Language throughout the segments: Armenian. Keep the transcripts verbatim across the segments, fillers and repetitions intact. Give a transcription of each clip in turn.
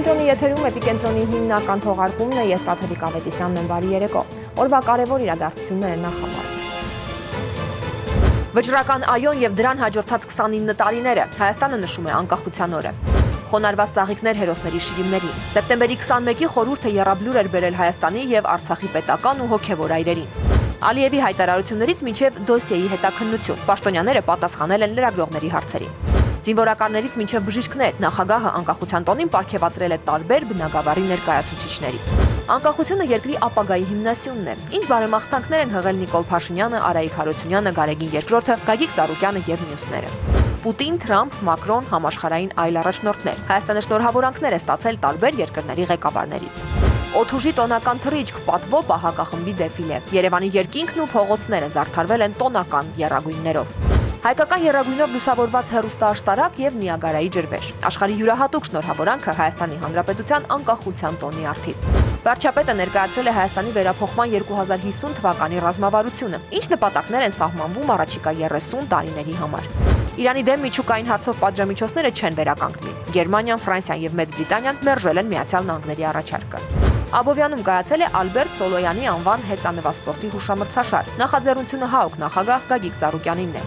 Էպիկենտրոնի եթերում Էպիկենտրոնի հիմնական թողարկումն է, ես Տաթևիկ Ավետիսյանն եմ, բարի երեկո։ Օրվա կարևոր իրադարձությունները նախամարում։ Վճռական այոն եւ դրան հաջորդած քսանինը տարիները, Հայաստանը նշում է անկախության օրը։ Խոնարհված ծաղիկներ հերոսների շիրիմներին։ Սեպտեմբերի քսանմեկի խորհուրդը եռաբլուր էր բերել Հայաստանի եւ Արցախի պետական ու հոգեվոր այրերին։ Ալիևի հայտարարություններից մինչև դոսիեի հետաքննություն, պաշտոնյաները պատասխանել են լրագրողների հարցերին։ Զինվորականներից մինչև բժիշկներ, նախագահը անկախության տոնին պարգևատրել է տարբեր բնագավառի ներկայացուցիչների։ Անկախությունը երկրի ապագայի հիմնասյունն է։ Ինչ բարեմաղթանքներ են հղել Նիկոլ Փաշինյանը, Արայիկ Հարությունյանը, Գարեգին Երկրորդը, Գագիկ Ծառուկյանը եւ մյուսները։ Պուտին, Թրամփ, Մակրոն, համաշխարհային այլ առաջնորդներ։ Հայաստանը շնորհավորանքներ է ստացել տարբեր երկրների ղեկավարներից։ Օդուժի տոնական թռիչք, պատվո պահակախմբի դեֆիլե։ Երևանի երկինքն ու փողոցները զարդարվել են տոնական եռագույններով։ Հայկական եռագույնով լուսավորված հեռուստաաշտարակ եւ Նիագարայի ջրվեժ։ Աշխարհի յուրահատուկ շնորհավորանքը Հայաստանի Հանրապետության անկախության տոնի առթիվ։ Վարչապետը ներկայացրել է Հայաստանի վերափոխման երկու հազար հիսուն թվականի ռազմավարությունը, ինչ նպատակներ են սահմանվում առաջիկա երեսուն տարիների համար։ Իրանի դեմ միջուկային հարցով պատժամիջոցները չեն վերականգնի։ Գերմանիան, Ֆրանսիան եւ Մեծ Բրիտանիան մերժել են Միացյալ Նահանգների առաջարկը։ Աբովյանում կայացել է Ալբերտ Սոլոյանի անվան հեծանվասպորտի հուշամրցաշար։ Նախաձեռնությունը ՀԱՕԿ նախագահ Գագիկ Ծառուկյանինն է։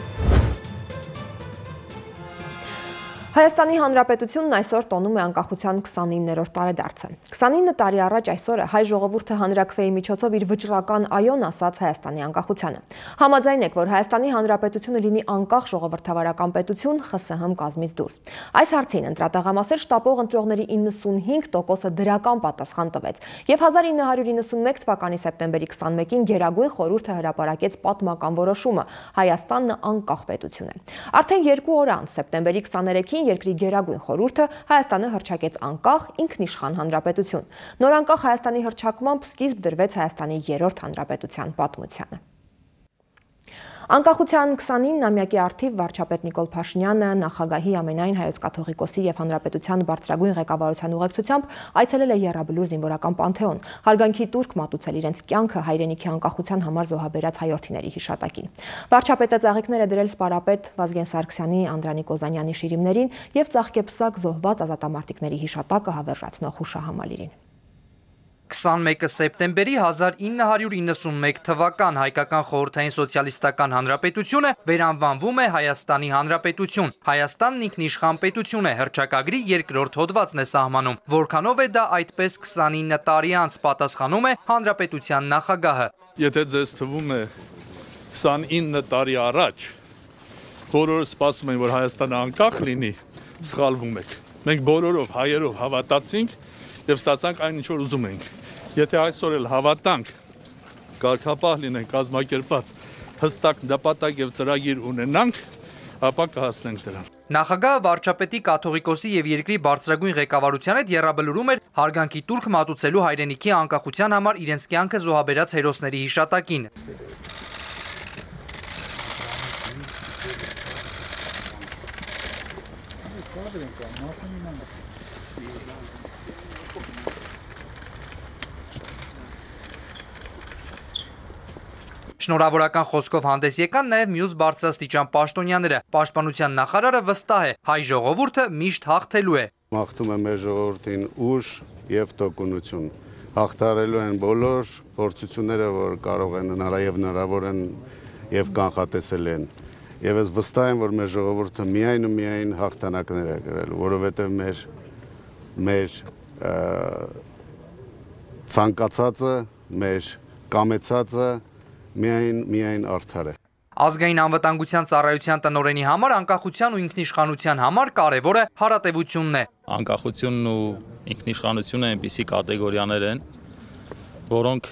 Հայաստանի Հանրապետությունն այսօր տոնում է անկախության քսանիններորդ տարեդարձը։ քսանինը տարի առաջ այսօրը հայ ժողովուրդը հանրաքվեի միջոցով իր վճռական այոն ասաց Հայաստանի անկախությանը։ Համաձայն եք, որ Հայաստանի Հանրապետությունը լինի անկախ ժողովրդավարական պետություն ԽՍՀՄ կազմից դուրս։ Այս հարցին ընտրատաղամասեր շտաբող ընտրողների իննսունհինգ տոկոսը դրական պատասխան տվեց, եւ հազար ինը հարյուր իննսունմեկ թվականի սեպտեմբերի քսանմեկին Գերագույն խորհուրդը հրապարակեց պատմական որոշումը՝ Հայաստանն անկախ պետություն է։ Արդեն երկու օր անց սեպտեմբերի քսաներեքին երկրի Գերագույն խորհուրդը Հայաստանը հռչակեց անկախ ինքնիշխան հանրապետություն։ Նոր անկախ Հայաստանի հռչակմամբ սկիզբ դրվեց Հայաստանի երրորդ հանրապետության պատմությանը։ Անկախության քսանինամյակի առթիվ վարչապետ Նիկոլ Փաշինյանը նախագահի ամենայն հայոց կաթողիկոսի եւ հանրապետության բարձրագույն ղեկավարության ուղեկցությամբ այցելել է Եռաբլուր զինվորական պանթեոն, հարգանքի տուրք մատուցել իրենց կյանքը հայրենիքի անկախության համար զոհաբերած հայրենիների հիշատակին։ Վարչապետը ծաղիկներ է դրել սպարապետ Վազգեն Սարգսյանի, Անդրանիկ Օզանյանի շիրիմներին եւ ծաղկեպսակ զոհված ազատամարտիկների հիշատակը հավերժացնող հուշահամալիրին։ քսանմեկը սեպտեմբերի հազար ինը հարյուր իննսունմեկ թվական հայկական խորհրդային սոցիալիստական հանրապետությունը վերանվանվում է Հայաստանի Հանրապետություն։ Հայաստանն ինքնիշխան պետություն է, հռչակագրի երկրորդ հոդվածն է սահմանում, որքանով է դա այդպես քսանինը տարի անց, պատասխանում է հանրապետության նախագահը։ Եթե ձեզ թվում է քսանինը տարի առաջ բոլորը սպասում են, որ Հայաստանը անկախ լինի, սխալվում եք։ Մենք բոլորով հայերով հավատացինք եւ ստացանք այն, ինչ որ ուզում ենք։ Եթե այսօր էլ հավատանք, կարգապահ լինենք, կազմակերպված, հստակ նպատակ եւ ծրագիր ունենանք, ապա կհասնենք դրան։ Նախագահը վարչապետի կաթողիկոսի եւ երկրի բարձրագույն ղեկավարության հետ Եռաբլուրում էր հարգանքի տուրք մատուցելու հայրենիքի անկախության համար իրենց կյանքը զոհաբերած հերոսների հիշատակին։ Շնորհավորական խոսքով հանդես եկան նաև մյուս բարձրաստիճան պաշտոնյաները։ Պաշտպանության նախարարը վստահ է, հայ ժողովուրդը միշտ հաղթելու է։ Մաղթում եմ մեր ժողովրդին ուժ եւ տոկունություն։ Հաղթարելու են բոլոր փորձությունները, որ կարող են հնարավոր հնարավոր են եւ կանխատեսել են։ Եվ ես վստահ եմ, որ մեր ժողովուրդը միայն ու միայն հաղթանակներ է կրել, որովհետեւ մեր մեր ցանկացածը, մեր կամեցածը միայն միայն արդար է։ Ազգային անվտանգության ծառայության տնօրենի համար անկախության ու ինքնիշխանության համար կարևորը հարատևությունն է։ Անկախությունն ու ինքնիշխանությունը այնպիսի կատեգորիաներ են, որոնք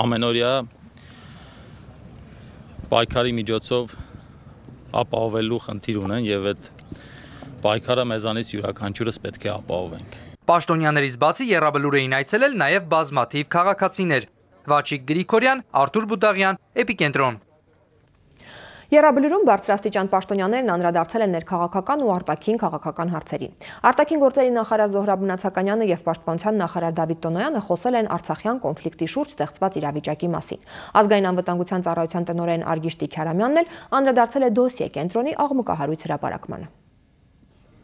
ամենօրյա պայքարի միջոցով ապահովելու խնդիր ունեն եւ այդ պայքարը մեզանից յուրաքանչյուրս պետք է ապահովենք։ Պաշտոնյաներից բացի Եռաբլուր էին այցելել նաև բազմաթիվ քաղաքացիներ։ Վաչիկ Գրիգորյան, Արթուր Բուդաղյան, Էպիկենտրոն։ Եռաբլուրում բարձրաստիճան պաշտոնյաներն անդրադարձել են ներքաղաքական ու արտաքին քաղաքական հարցերին։ Արտաքին գործերի նախարար Զոհրաբ Մնացականյանը եւ պաշտպանության նախարար Դավիթ Տոնոյանը խոսել են Արցախյան կոնֆլիկտի շուրջ ստեղծված իրավիճակի մասին։ Ազգային անվտանգության ծառայության տնօրեն Արգիշ Տիքարամյանն էլ անդրադարձել է դոսիե կենտրոնի աղմկահարույց հրապարակմանը։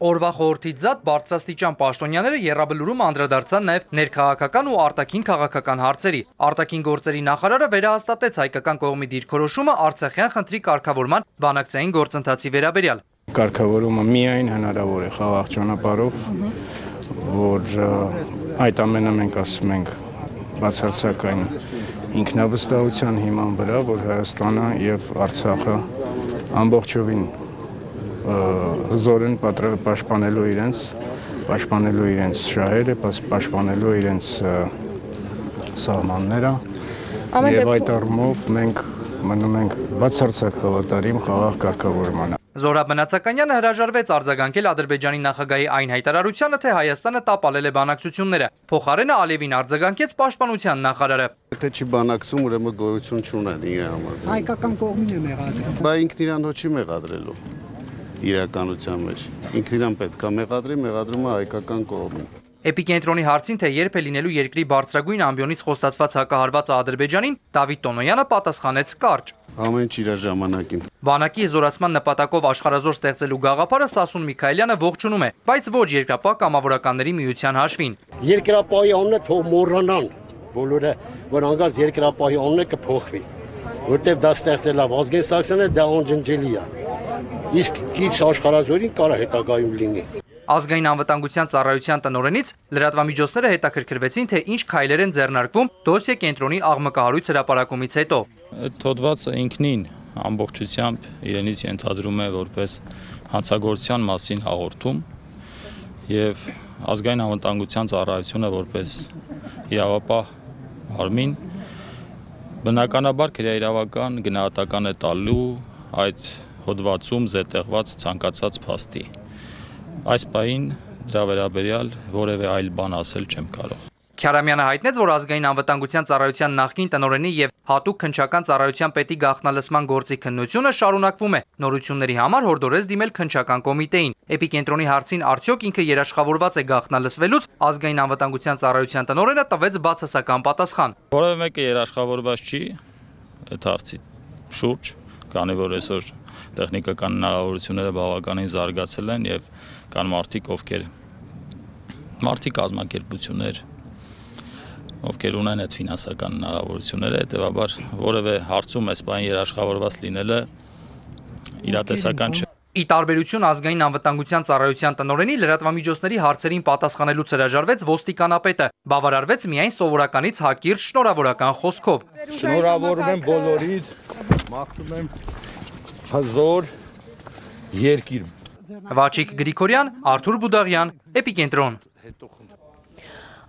Օրվա խորհրդից զատ բարձրաստիճան պաշտոնյաները եռաբլուրում անդրադարձան նաև ներքաղաքական ու արտաքին քաղաքական հարցերի։ Արտաքին գործերի նախարարը վերահաստատեց հայկական կողմի դիրքորոշումը Արցախյան խնդրի կարգավորման բանակցային գործընթացի վերաբերյալ։ Կարգավորումը միայն հնարավոր է խաղաղ ճանապարհով, որ այդ ամենը մենք ասում ենք բացարձակային ինքնավստահության հիման վրա, որ Հայաստանը եւ Արցախը ամբողջովին հզոր են պաշտպանելու իրենց, պաշտպանելու իրենց շահերը, պաշտպանելու իրենց սահմանները եւ այդ առումով մենք մնում ենք բացարձակ հավատարիմ խաղաղ կարգավորմանը։ Զորաբ Մնացականյանը հրաժարվեց արձագանքել Ադրբեջանի նախագահի այն հայտարարությանը, թե Հայաստանը տապալել է բանակցությունները։ Փոխարենը Ալիևին արձագանքեց պաշտպանության նախարարը։ Եթե չի բանակցում, ուրեմն գոյություն չունեն իր համար։ Հայկական կողմին է մեղադրել։ Բա ինքն իրան հո չի մեղադրելու իրականության մեջ։ Ինքն իրան պետք է մեղադրի, մեղադրում է հայկական կողմին։ Էպիկենտրոնի հարցին, թե երբ է լինելու երկրի բարձրագույն ամբիոնից խոստացված հակահարվածը Ադրբեջանին, Դավիթ Տոնոյանը պատասխանեց կարճ։ Ամեն ինչ իր ժամանակին։ Բանակի զորացման նպատակով աշխարհազոր ստեղծելու գաղափարը Սասուն Միքայելյանը ողջունում է, բայց ոչ երկրապահ կամավորականների միության հաշվին։ Երկրապահի անունը թող մոռանան բոլորը, որ անգամ երկրապահի անունը կփոխվի, որտեվ դա ստեղծել է Վազգեն Սարգսյանը, դա անջնջելի է։ Իսկ քիչ աշխարհազորին կարա հետագայում լինի։ Ազգային անվտանգության ծառայության տնօրենից լրատվամիջոցները հետաքրքրվեցին, թե ինչ քայլեր են ձեռնարկվում դոսիե կենտրոնի աղմկահարույց հրապարակումից հետո։ Այդ հոդվածը ինքնին ամբողջությամբ իրենից ենթադրում է որպես հանցագործության մասին հաղորդում եւ ազգային անվտանգության ծառայությունը որպես իրավապահ մարմին բնականաբար քրեաիրավական գնահատական է տալու այդ հոդվածում զետեղված ցանկացած փաստի։ Այս պահին դրա վերաբերյալ որևէ այլ բան ասել չեմ կարող։ Քյարամյանը հայտնեց, որ ազգային անվտանգության ծառայության նախկին տնօրենի եւ հատուկ քննչական ծառայության պետի գաղտնալսման գործի քննությունը շարունակվում է։ Նորությունների համար հորդորեց դիմել քննչական կոմիտեին։ Էպիկենտրոնի հարցին արդյոք ինքը երաշխավորված է գաղտնալսվելուց, ազգային անվտանգության ծառայության տնօրենը տվեց բացասական պատասխան։ Որևէ մեկը երաշխավորված չի այդ հարցի շուրջ, քանի որ այսօր տեխնիկական հնարավորությունները բավականին զարգացել են եւ կան մարդիկ, ովքեր մարդիկ կազմակերպություններ, ովքեր ունեն այդ ֆինանսական հնարավորությունները, հետեւաբար որևէ հարցում այս բան երաշխավորված լինելը իրատեսական չէ։ Ի տարբերություն ազգային անվտանգության ծառայության տնօրենի լրատվամիջոցների հարցերին պատասխանելուց հրաժարվեց ոստիկանապետը, բավարարվեց միայն սովորականից հակիրճ շնորհավորական խոսքով։ Շնորհավորում եմ բոլորիդ, մաղթում եմ հզոր երկիր։ Վաչիկ Գրիգորյան, Արթուր Բուդաղյան, Էպիկենտրոն։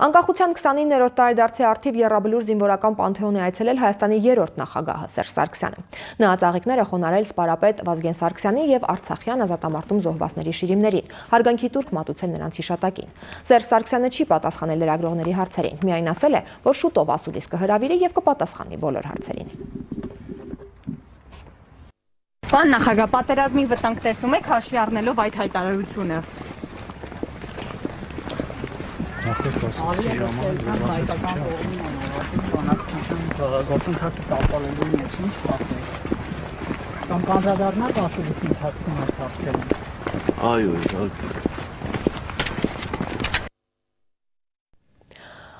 Անկախության քսանիններորդ տարեդարձի առթիվ եռաբլուր զինվորական պանթեոն է այցելել Հայաստանի երրորդ նախագահը Սերժ Սարգսյանը։ Նա ծաղիկներ է խոնարհել սպարապետ Վազգեն Սարգսյանի եւ Արցախյան ազատամարտում զոհվածների շիրիմներին, հարգանքի տուրք մատուցել նրանց հիշատակին։ Սերժ Սարգսյանը չի պատասխանել լրագրողների հարցերին, միայն ասել է, որ շուտով ասուլիս կհրավիրի եւ կպատասխանի բոլոր հարցերին։ Պարոն նախագահ, պատերազմի վտանգ տեսնում եք հաշվի առնելով այդ հայտարարությունը։ Գործընթացը տապալելու մեջ ինչ կասեք։ Կամ կանդրադառնաք ասուլիսի ընթացքում այս հարցերին։ Այո, իհարկե։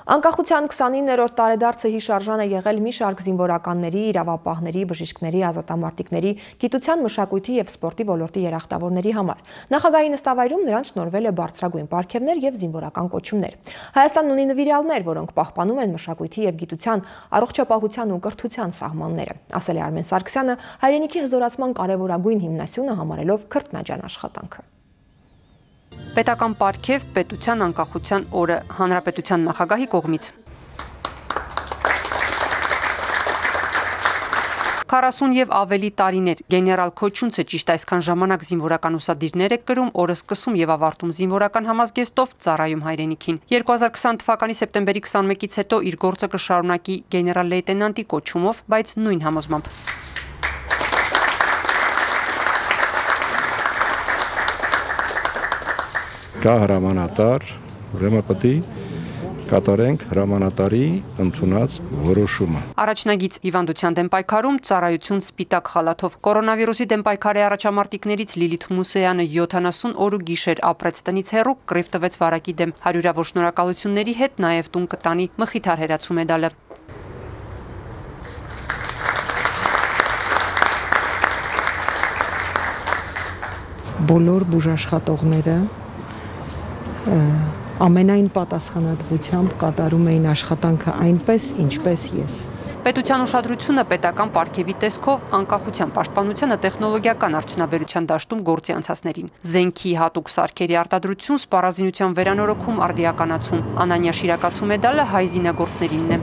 Անկախության քսանիններորդ տարեդարձը հիշարժան է եղել մի շարք զինվորականների, իրավապահների, բժիշկների, ազատամարտիկների, գիտության, մշակույթի եւ սպորտի ոլորտի երախտավորների համար։ Նախագահի նստավայրում նրանց շնորհվել է բարձրագույն պարգևներ եւ զինվորական կոչումներ։ Հայաստանն ունի նվիրյալներ, որոնք պահպանում են մշակույթի եւ գիտության, առողջապահության ու կրթության սահմանները, ասել է Արմեն Սարգսյանը, հայրենիքի հզորացման կարևորագույն հիմնասյունը համարելով քրտնաջան աշխատանքը։ Պետական պարգև պետության անկախության օրը հանրապետության նախագահի կողմից։ քառասուն եւ ավելի տարիներ գեներալ Քոչունցը ճիշտ այսքան ժամանակ զինվորական ուսադիրներ է կրում, օրը սկսում եւ ավարտում զինվորական համազգեստով ծառայում հայրենիքին։ երկու հազար քսան թվականի սեպտեմբերի քսանմեկից հետո իր գործը կշարունակի գեներալ լեյտենանտի կոչումով, բայց նույն համոզմամբ։ Կա հրամանատար, ուրեմն պետք է կկատարենք հրամանատարի ընդունած որոշումը։ Առաջնագիծ հիվանդության դեմ պայքարում ծառայություն սպիտակ խալաթով։ Կորոնավիրուսի դեմ պայքարի առաջամարտիկներից Լիլիթ Մուսեյանը յոթանասուն օր ու գիշեր ապրեց տնից հեռու, կռիվ տվեց վարակի դեմ։ Հարյուրավոր շնորհակալությունների հետ նաև տուն կտանի Մխիթար հերացու մեդալը։ Բոլոր բուժաշխատողները ամենայն պատասխանատվությամբ կատարում էին աշխատանքը այնպես, ինչպես ես։ Պետության ուշադրությունը պետական պարգևի տեսքով անկախության պաշտպանությանը տեխնոլոգիական արդյունաբերության դաշտում գործի անցածներին։ Զենքի հատուկ սարքերի արտադրություն, սպառազինության վերանորոգում, արդիականացում։ Անանյա Շիրակացու մեդալը հայ զինագործներինն է։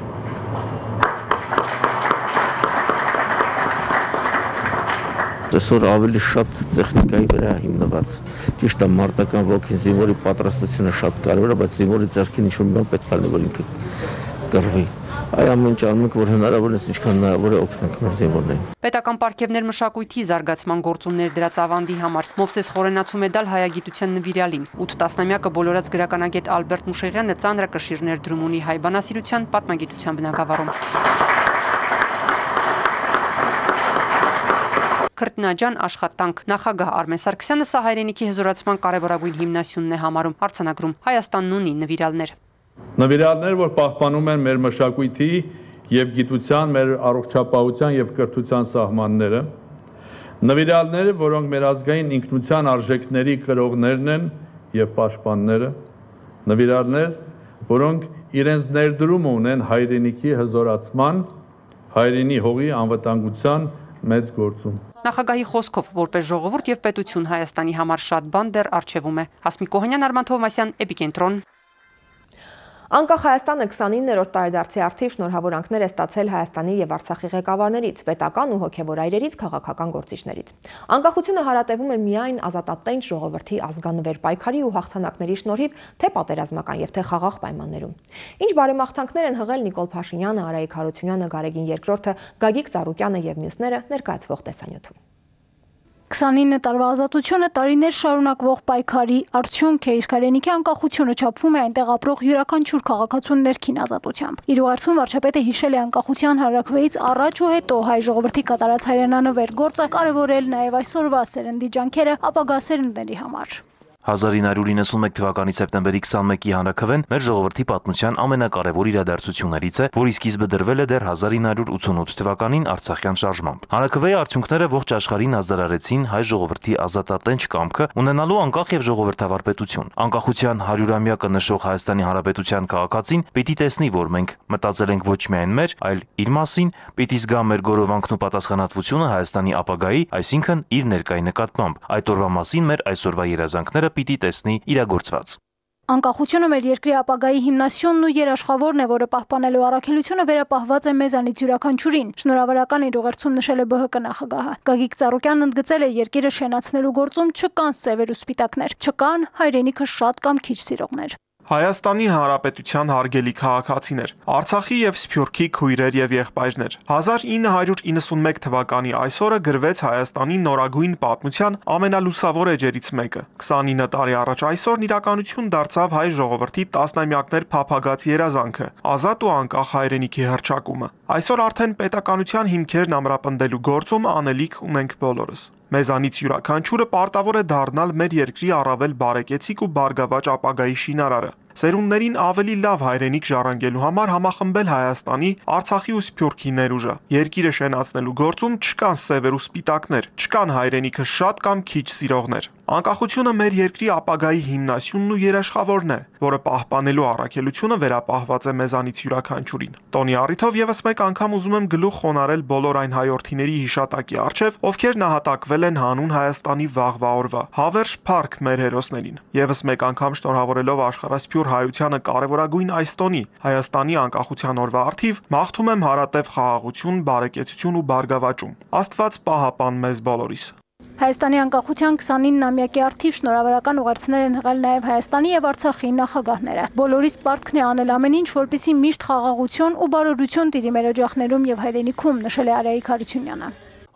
Այսօր ավելի շատ տեխնիկայի վրա հիմնված։ Ճիշտ է, մարտական ոգին զինվորի պատրաստությունը շատ կարևոր է, բայց զինվորի ձեռքին ինչ-որ մի բան պետք է լինի, որ ինքը կռվի։ Այ ամեն ինչ անում ենք, որ հնարավոր է, ինչքան հնարավոր է օգնենք մեր զինվորներին։ Պետական պարգևներ մշակույթի զարգացման գործուններ դրած ավանդի համար Մովսես Խորենացու մեդալ հայագիտության նվիրալին։ ութ տասնամյակը բոլորած գրականագետ Ալբերտ Մուշեղյանը ծանրակշիռ ներդրում ունի հայ բանասիրության պատմագիտության բնագավառում։ Քրտնաջան աշխատանք նախագահ Արմեն Սարգսյանը սա հայրենիքի հզորացման կարևորագույն հիմնասյունն է համարում։ Արձանագրում Հայաստանն ունի նվիրալներ։ Նվիրալներ, որ պահպանում են մեր մշակույթի եւ գիտության, մեր առողջապահության եւ կրթության սահմանները։ Նվիրալներ, որոնք մեր ազգային ինքնության արժեքների կրողներն են եւ պաշտպանները։ Նվիրալներ, որոնք իրենց ներդրումը ունեն հայրենիքի հզորացման, հայրենի հողի անվտանգության մեծ գործում։ Նախագահի խոսքով որպես ժողովուրդ եւ պետություն Հայաստանի համար շատ բան դեռ առջևում է։ Հասմիկ Կոհանյան, Արման Թովմասյան, Էպիկենտրոն։ Անկախ Հայաստանը քսանիններորդ տարեդարձի արդիվ շնորհավորանքներ է ստացել Հայաստանի եւ Արցախի ղեկավարներից, պետական ու հոգեվոր այրերից, քաղաքական գործիչներից։ Անկախությունը հարատևում է միայն ազատատենչ ժողովրդի ազգանվեր պայքարի ու հաղթանակների շնորհիվ, թե պատերազմական եւ թե խաղաղ պայմաններում։ Ինչ բարեմաղթանքներ են հղել Նիկոլ Փաշինյանը, Արայիկ Հարությունյանը, Գարեգին Երկրորդը, Գագիկ Ծառուկյանը եւ մյուսները ներկայացվող տեսանյութում։ քսանինը տարվա ազատությունը տարիներ շարունակվող պայքարի արդյունք է, իսկ հայրենիքի անկախությունը չափվում է այնտեղ ապրող յուրաքանչյուր քաղաքացու ներքին ազատությամբ։ Իր ուղերձում վարչապետը հիշել է անկախության հարակվեից առաջ ու հետո հայ ժողովրդի կատարած հայրենանվեր գործը, կարևորել նաև այսօրվա սերնդի ջանքերը ապագա սերունդների համար։ հազար ինը հարյուր իննսունմեկ թվականի սեպտեմբերի քսանմեկի հանրաքվեն մեր ժողովրդի պատմության ամենակարևոր իրադարձություններից է, որի սկիզբը դրվել է դեռ հազար ինը հարյուր ութսունութ թվականին Արցախյան շարժմամբ։ Հանրաքվեի արդյունքները ողջ աշխարհին ազդարարեցին հայ ժողովրդի ազատատենչ կամքը ունենալու անկախ եւ ժողովրդավար պետություն։ Անկախության հարյուրամյակը նշող Հայաստանի Հանրապետության քաղաքացին պիտի տեսնի, որ մենք մտածել ենք ոչ միայն մեր, այլ իր մասին, պիտի զգա մեր գորովանքն ու պատասխանատվությունը Հայաստանի ապագայի, այսինքն իր ներկայի նկատմամբ։ Այդ օրվա մասին մեր այսօրվա երազանքները պիտի տեսնի իրագործված։ Անկախությունը մեր երկրի ապագայի հիմնասյունն ու երաշխավորն է, որը պահպանելու առաքելությունը վերապահված է մեզանից յուրաքանչյուրին։ Շնորհավորական իր ուղերձում նշել է ԲՀԿ նախագահը։ Գագիկ Ծառուկյանն ընդգծել է երկիրը շենացնելու գործում չկան սևեր ու սպիտակներ, չկան հայրենիքը շատ կամ քիչ սիրողներ։ Հայաստանի Հանրապետության հարգելի քաղաքացիներ, Արցախի եւ Սփյուռքի քույրեր եւ եղբայրներ, հազար ինը հարյուր իննսունմեկ թվականի այսօրը գրվեց Հայաստանի նորագույն պատմության ամենալուսավոր էջերից մեկը։ քսանինը տարի առաջ այսօրն իրականություն դարձավ հայ ժողովրդի տասնամյակներ փափագած երազանքը՝ ազատ ու անկախ հայրենիքի հռչակումը։ Այսօր արդեն պետականության հիմքերն ամրապնդելու գործում անելիք ունենք բոլորս։ Մեզանից յուրաքանչյուրը պարտավոր է դառնալ մեր երկրի առավել բարեկեցիկ ու բարգավաճ ապագայի շինարարը։ Սերունդներին ավելի լավ հայրենիք ժառանգելու համար համախմբել Հայաստանի, Արցախի ու Սփյուռքի ներուժը։ Երկիրը շենացնելու գործում չկան սևեր ու սպիտակներ, չկան հայրենիքը շատ կամ քիչ սիրողներ։ Անկախությունը մեր երկրի ապագայի հիմնասյունն ու երաշխավորն է, որը պահպանելու առաքելությունը վերապահված է մեզանից յուրաքանչյուրին։ Տոնի առիթով եւս մեկ անգամ ուզում եմ գլուխ խոնարհել բոլոր այն հայրենիների հիշատակի առջև, ովքեր նահատակվել են հանուն Հայաստանի վաղվա օրվա։ Հավերժ փառք մեր հերոսներին։ Եվս մեկ անգամ շնորհավորելով աշխարհասփյուռ հայությանը կարևորագույն այս տոնի, Հայաստանի անկախության օրվա առթիվ, մաղթում եմ հարատև խաղաղություն, բարեկեցություն ու բարգավաճում։ Աստված պահապան մեզ բոլորիս։ Հայաստանի անկախության քսանինամյակի առթիվ շնորհավորական ուղերձներ են հղել նաև Հայաստանի եւ Արցախի նախագահները։ Բոլորիս պարտքն է անել ամեն ինչ, որպեսզի միշտ խաղաղություն ու բարօրություն տիրի մեր օջախներում եւ հայրենիքում, նշել է Արայիկ Հարությունյանը։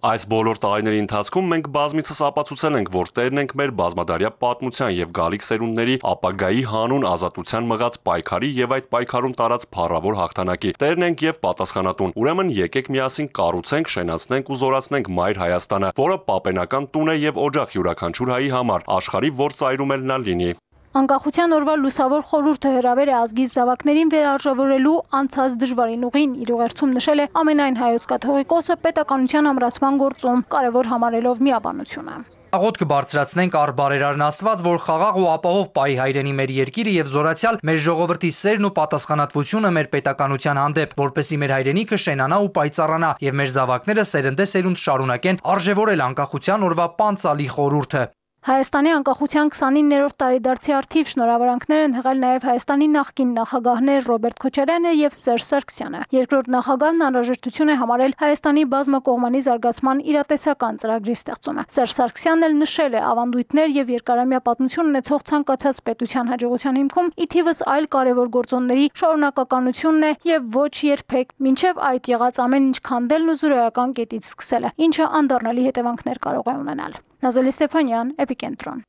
Այս բոլոր տարիների ընթացքում մենք բազմիցս ապացուցել ենք, որ տերն ենք մեր բազմադարյա պատմության եւ գալիք սերունդների ապագայի հանուն ազատության մղած պայքարի եւ այդ պայքարում տարած փառավոր հաղթանակի։ Տերն ենք եւ պատասխանատուն։ Ուրեմն եկեք միասին կառուցենք, շենացնենք ու զորացնենք Մայր Հայաստանը, որը պապենական տուն է եւ օջախ յուրաքանչյուր հայի համար, աշխարհի որ ծայրում էլ նա լինի։ Անկախության օրվա լուսավոր խորհուրդը հրավեր է ազգի զավակներին վերարժևորելու անցած դժվարին ուղին իր ուղերձում նշել է ամենայն հայոց կաթողիկոսը պետականության ամրացման գործում, կարևոր համարելով միաբանությունը։ Աղոթք բարձրացնենք առ բարերարն Աստված, որ խաղաղ ու ապահով պահի հայրենի մեր երկիրը եւ զորացյալ մեր ժողովրդի սերն ու պատասխանատվությունը մեր պետականության հանդեպ, որպեսզի մեր հայրենիքը շենանա ու պայծառանա եւ մեր զավակները սերնդե սերունդ շարունակեն արժևորել անկախության օրվա պանծալի խորհուրդը։ Հայաստանի անկախության քսանիններորդ տարեդարձի առթիվ շնորհավորանքներ են հղել նաև Հայաստանի նախկին նախագահներ Ռոբերտ Քոչարյանը եւ Սերժ Սարգսյանը։ Երկրորդ նախագահն անհրաժեշտություն է համարել Հայաստանի բազմակողմանի զարգացման իրատեսական ծրագրի ստեղծումը։ Սերժ Սարգսյանն էլ նշել է ավանդույթներ եւ երկարամյա պատմություն ունեցող ցանկացած պետության հաջողության հիմքում ի թիվս այլ կարևոր գործոնների շարունակականությունն է եւ ոչ երբեք մինչեւ այդ եղած ամեն ինչ քանդելն ու զրոյական կետից սկսելը, ինչը անդառնալի հետևանքներ կարող է ունենալ։ Նազելի Ստեփանյան, Էպիկենտրոն։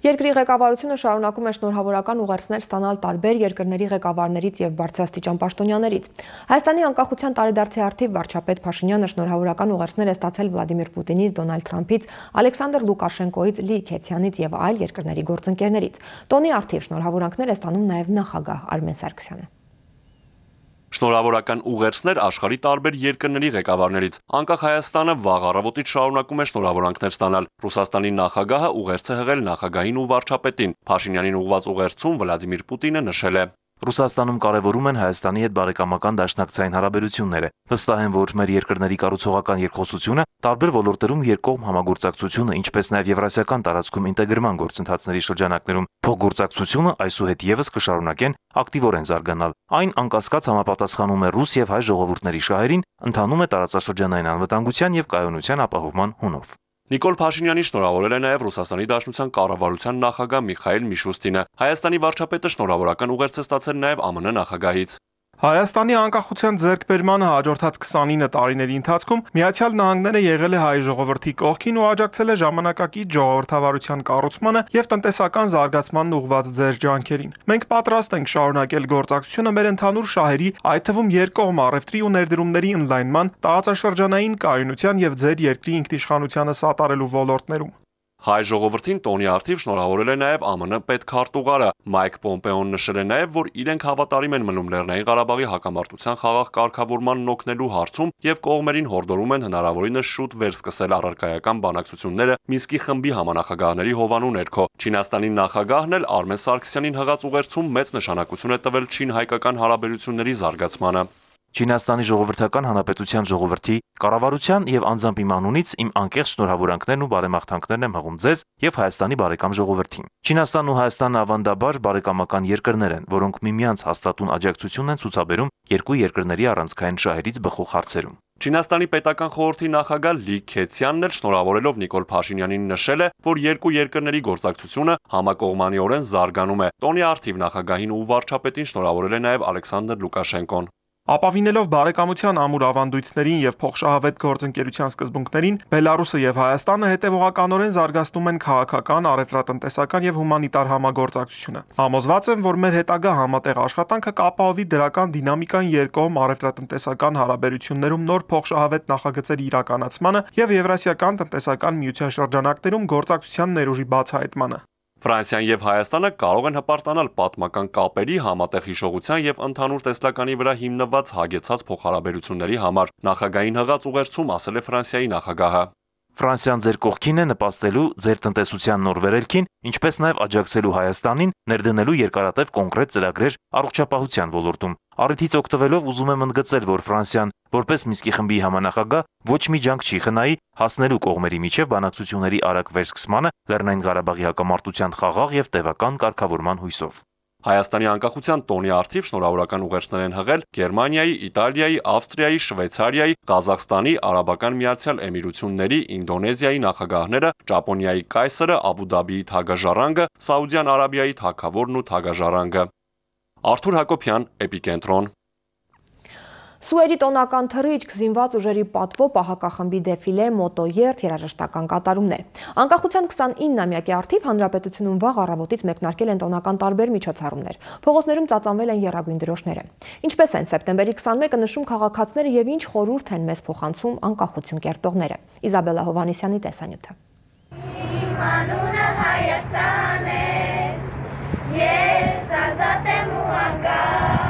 Երկրի ղեկավարությունը շարունակում է շնորհավորական ուղերձներ ստանալ տարբեր երկրների ղեկավարներից եւ բարձրաստիճան պաշտոնյաներից։ Հայաստանի անկախության տարեդարձի առթիվ վարչապետ Փաշինյանը շնորհավորական ուղերձներ է ստացել Վլադիմիր Պուտինից, Դոնալդ Թրամփից, Ալեքսանդր Լուկաշենկոից, Լի Քեցյանից եւ այլ երկրների գործընկերներից։ Տոնի առթիվ շնորհավորանքներ է ստանում նաեւ նախագահ Արմեն Սարգսյանը։ Շնորհավորական ուղերձներ աշխարհի տարբեր երկրների ղեկավարներից։ Անկախ Հայաստանը վաղ առավոտից շարունակում է շնորհավորանքներ ստանալ։ Ռուսաստանի նախագահը ուղերձ է հղել նախագահին ու վարչապետին։ Փաշինյանին ուղղված ուղերձում Վլադիմիր Պուտինը նշել է. Ռուսաստանում կարևորում են Հայաստանի հետ բարեկամական դաշնակցային հարաբերությունները։ Վստահ եմ, որ մեր երկրների կառուցողական երկխոսությունը, տարբեր ոլորտերում երկկողմ համագործակցությունը, ինչպես նաև եվրասիական տարածքում ինտեգրման գործընթացների շրջանակներում փոխգործակցությունը այսուհետ եւս կշարունակեն ակտիվորեն զարգանալ։ Այն անկասկած համապատասխանում է ռուս եւ հայ ժողովուրդների շահերին, ընթանում է տարածաշրջանային անվտանգության եւ կայունության ապահովման հունով։ Նիկոլ Փաշինյանի շնորհավորել է նաև Ռուսաստանի Դաշնության կառավարության նախագահ Միխայել Միշուստինը։ Հայաստանի վարչապետը շնորհավորական ուղերձ է ստացել նաև ԱՄՆ նախագահից։ Հայաստանի անկախության ձեռքբերմանը հաջորդած քսանինը տարիների ընթացքում Միացյալ Նահանգները եղել է հայ ժողովրդի կողքին ու աջակցել է ժամանակակից ժողովրդավարության կառուցմանը եւ տնտեսական զարգացմանն ուղղված ձեր ջանքերին։ Մենք պատրաստ ենք շարունակել գործակցությունը մեր ընդհանուր շահերի, այդ թվում երկկողմ առևտրի ու ներդրումների ընդլայնման, տարածաշրջանային կայունության եւ ձեր երկրի ինքնիշխանությանը սատարելու ոլորտներում։ Հայ ժողովրդին տոնի առթիվ շնորհավորել է նաև ԱՄՆ պետքարտուղարը Մայք Պոմպեոն նշել է նաև, որ իրենք հավատարիմ են մնում Լեռնային Ղարաբաղի հակամարտության խաղաղ կարգավորմանն օգնելու հարցում եւ կողմերին հորդորում են հնարավորինս շուտ վերսկսել առարկայական բանակցությունները Մինսկի խմբի համանախագահների հովանու ներքո։ Չինաստանի նախագահն էլ Արմեն Սարգսյանին հղած ուղերձում մեծ նշանակություն է տվել չին-հայկական հարաբերությունների զարգացմանը։ Չինաստանի ժողովրդական հանրապետության ժողովրդի կառավարության եւ անձամբ իմ անունից իմ անկեղծ շնորհավորանքներն ու բարեմաղթանքներն եմ հղում ձեզ եւ Հայաստանի բարեկամ ժողովրդին։ Չինաստանն ու Հայաստանը ավանդաբար բարեկամական երկրներ են, որոնք միմյանց հաստատուն աջակցություն են ցուցաբերում երկու երկրների առանցքային շահերից բխող հարցերում։ Չինաստանի պետական խորհրդի նախագահ Լի Քեցյանն էլ շնորհավորելով Նիկոլ Փաշինյանին նշել է, որ երկու երկրների գործակցությունը համակողմանիորեն զարգանում է։ Տոնի առթիվ նախագահին ու վարչապետին շնորհավորել է նաև Ալեքսանդր Լուկաշենկոն։ Ապավինելով բարեկամության ամուր ավանդույթներին եւ փոխշահավետ գործընկերության սկզբունքներին, Բելարուսը եւ Հայաստանը հետեւողականորեն զարգացնում են քաղաքական, առևտրատնտեսական եւ հումանիտար համագործակցությունը։ Համոզված եմ, որ մեր հետագա համատեղ աշխատանքը կապահովի դրական դինամիկան երկկողմ առևտրատնտեսական հարաբերություններում նոր փոխշահավետ նախագծերի իրականացմանը եւ Եվրասիական տնտեսական միության շրջանակներում գործակցության ներուժի բացահայտմանը։ Ֆրանսիան եւ Հայաստանը կարող են հպարտանալ պատմական կապերի, համատեղ հիշողության եւ ընդհանուր տեսլականի վրա հիմնված հագեցած փոխհարաբերությունների համար, նախագահային հղած ուղերձում ասել է Ֆրանսիայի նախագահը։ Ֆրանսիան ձեր կողքին է նպաստելու ձեր տնտեսության նոր վերելքին, ինչպես նաև աջակցելու Հայաստանին ներդնելու երկարատև կոնկրետ ծրագրեր առողջապահության ոլորտում։ Առիթից օգտվելով ուզում եմ ընդգծել, որ Ֆրանսիան, որպես Մինսկի խմբի համանախագահ, ոչ մի ջանք չի խնայի հասնելու կողմերի միջև բանակցությունների արագ վերսկսմանը Լեռնային Ղարաբաղի հակամարտության խաղաղ եւ տևական կարգավորման հույսով։ Հայաստանի անկախության տոնի առթիվ շնորհավորական ուղերձներ են հղել Գերմանիայի, Իտալիայի, Ավստրիայի, Շվեյցարիայի, Ղազախստանի, Արաբական Միացյալ Էմիրությունների, Ինդոնեզիայի նախագահները, Ճապոնիայի կայսրը, Աբու Դաբիի թագաժառանգը, Սաուդյան Արաբիայի թագավորն ու թագաժառանգը։ Արթուր Հակոբյան, Էպիկենտրոն։ Սուերի տոնական թռիչք, զինված ուժերի պատվո պահակախմբի դեֆիլե, մոտոերթ, երաժշտական կատարումներ։ Անկախության քսանիննամյակի առթիվ հանրապետությունում վաղ առավոտից մեկնարկել են տոնական տարբեր միջոցառումներ։ Փողոցներում ծածանվել են եռագույն դրոշները։ Ինչպես են սեպտեմբերի քսանմեկը նշում քաղաքացիները եւ ինչ խորհուրդ են մեզ փոխանցում անկախություն կերտողները։ Իզաբելա Հովհաննիսյանի տեսանյութը։ Անունը Հայաստան է, ես ազատ եմ ու անկախ։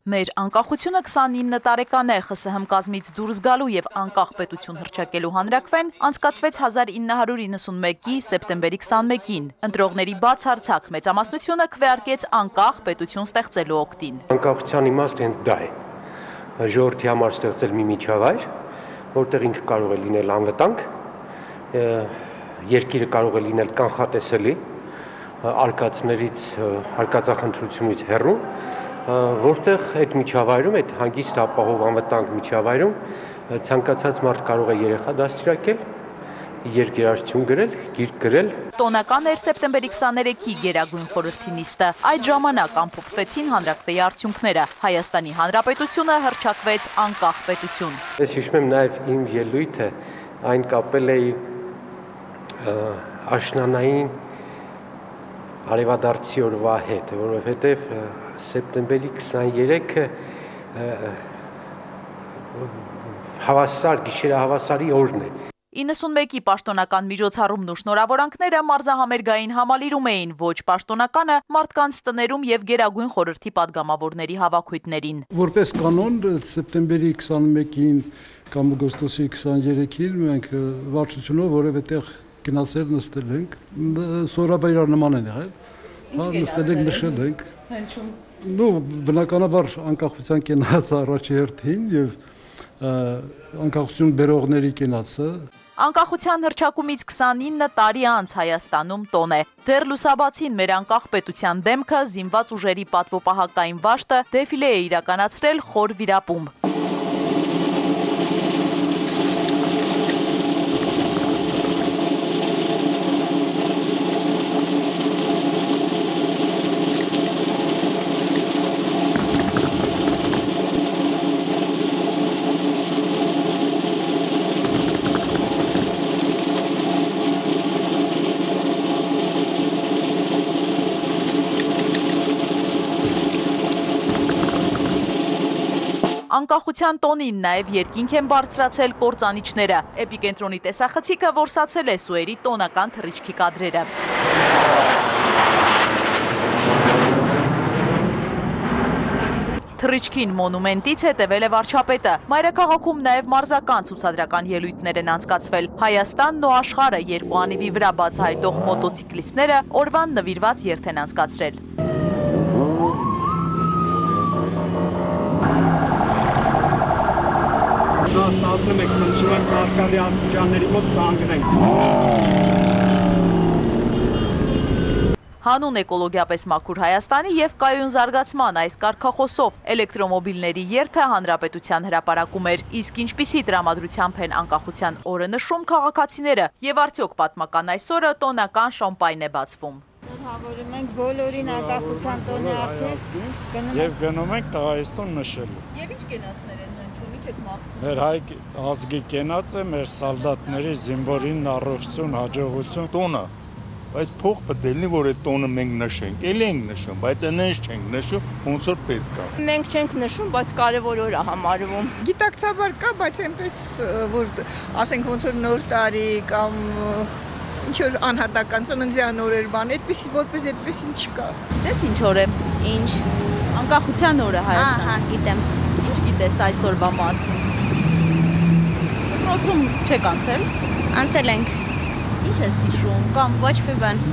Մեր անկախությունը քսանինը տարեկան է ԽՍՀՄ կազմից դուրս գալու եւ անկախ պետություն հռչակելու հանրաքվեն անցկացվեց հազար ինը հարյուր իննսունմեկի սեպտեմբերի քսանմեկին։ Ընտրողների բացարձակ մեծամասնությունը քվեարկեց անկախ պետություն ստեղծելու օգտին։ Անկախության իմաստը հենց դա է։ Ժողովրդի համար ստեղծել մի միջավայր, որտեղ ինքը կարող է լինել անվտանգ, երկիրը կարող է լինել կանխատեսելի, արկածներից, արկածախնդրությունից հեռու, որտեղ այդ միջավայրում, այդ հանգիստ ապահով անվտանգ միջավայրում ցանկացած մարդ կարող է երեխա դաստիարակել, երկերարություն գրել, գիրք գրել։ Տոնական էր սեպտեմբերի քսաներեքի Գերագույն խորհրդի նիստը։ Այդ ժամանակ ամփոփվեցին հանրաքվեի արդյունքները։ Հայաստանի Հանրապետությունը հռչակվեց անկախ պետություն։ Ես հիշում եմ նաև իմ ելույթը, այն կապել էի աշնանային արևադարձի օրվա հետ, որովհետև սեպտեմբերի քսաներեքը հավասար, գիշերահավասարի օրն է։ իննսունմեկի պաշտոնական միջոցառումն ու շնորհավորանքները մարզահամերգային համալիրում էին, ոչ պաշտոնականը մարդկանց տներում եւ Գերագույն խորհրդի падգամավորների հավաքույթներին։ Որպես կանոն սեպտեմբերի քսանմեկին կամ օգոստոսի քսաներեքին մենք վարչությունով որևէ տեղ գնացել նստել ենք, սորաբայրար նման են եղել, հա նստել ենք, նշել ենք։ Հնչում։ Նու բնականաբար անկախության կենաց առաջի հերթին եւ անկախություն բերողների կենացը։ Անկախության հռչակումից քսանինը տարի անց Հայաստանում տոն է։ Դեռ լուսաբացին մեր անկախ պետության դեմքը զինված ուժերի պատվոպահակային վաշտը դեֆիլե է իրականացրել խոր վիրապում։ Անկախության տոնին նաև երկինք են բարձրացել կործանիչները։ Էպիկենտրոնի տեսախցիկը որսացել է սուերի տոնական թռիչքի կադրերը։ Թռիչքին մոնումենտից հետևել է վարչապետը։ Մայրաքաղաքում նաև մարզական ցուցադրական ելույթներ են անցկացվել։ Հայաստանն ու աշխարհը երկու անիվի վրա բացահայտող մոտոցիկլիստները օրվան նվիրված երթ են անցկացրել։ տասնմեկ մնչում ենք Կասկադի աստիճանների մոտ կանգնենք։ Հանուն էկոլոգիապես մաքուր Հայաստանի և կայուն զարգացման այս կարգախոսով էլեկտրոմոբիլների երթը հանրապետության հրապարակում էր, իսկ ինչպիսի տրամադրությամբ են անկախության օրը նշում քաղաքացիները և արդյոք պատմական այս օրը տոնական շամպայն է բացվում։ Հավորում ենք բոլորին անկախության տոնի արդիվ և գնում ենք տղայստուն նշելու։ Եվ ինչ կենացներ են հնչում, ինչ եք մաղթում։ Մեր հայ ազգի կենաց է, մեր սալդատների զինվորին առողջություն, հաջողություն տոնը, բայց փող պետք է լինի, որ այդ տոնը մենք նշենք, էլի ենք նշում, բայց այնպես չենք նշում, ոնց որ պետք է։ Մենք չենք նշում, բայց կարևոր օր է համարվում։ Գիտակցաբար կա, բայց այնպես որ ասենք ոնց որ նոր տարի կամ ինչ որ անհատական ծննդյան օրեր բան, այդպես որպես այդպես ինչ կա։ Դες ինչ օր է։ Ինչ։ Անկախության օրը Հայաստան։ Ահա, գիտեմ։ Ինչ գիտես այսօրվա մասին։ Դպրոցում չեք անցել։ Անցել ենք։ Ինչ ես հիշում կամ ոչ մի բան։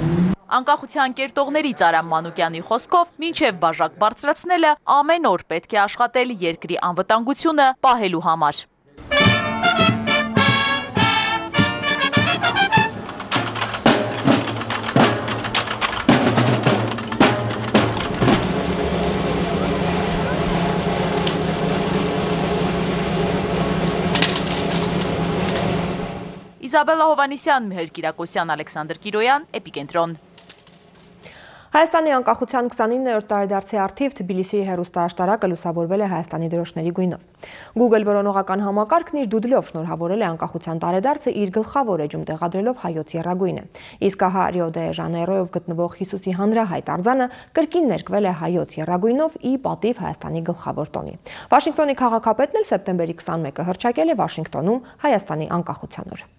Անկախության կերտողներից Արամ Մանուկյանի խոսքով մինչև բաժակ բարձրացնելը ամեն օր պետք է աշխատել երկրի անվտանգությունը պահելու համար։ Իզաբելա Հովհաննիսյան, Միհեր Կիրակոսյան, Ալեքսանդր Կիրոյան, Էպիկենտրոն։ Հայաստանի անկախության քսանիններորդ տարեդարձի առթիվ Թբիլիսիի հեռուստաաշտարակը լուսավորվել է Հայաստանի դրոշների գույնով։ Google որոնողական համակարգն իր դուդլով շնորհավորել է անկախության տարեդարձը իր գլխավոր էջում տեղադրելով հայոց եռագույնը։ Իսկ ահա Ռիո դե Ժանեյրոյով գտնվող Հիսուսի հանրահայտ արձանը կրկին ներկվել է հայոց եռագույնով ի պատիվ Հայաստանի գլխավոր տոնի։ Վաշինգտոնի քաղաքապետն էլ սեպտեմբերի քսանմեկը հռչակել է Վաշինգտոնում Հայաստանի անկախության օրը։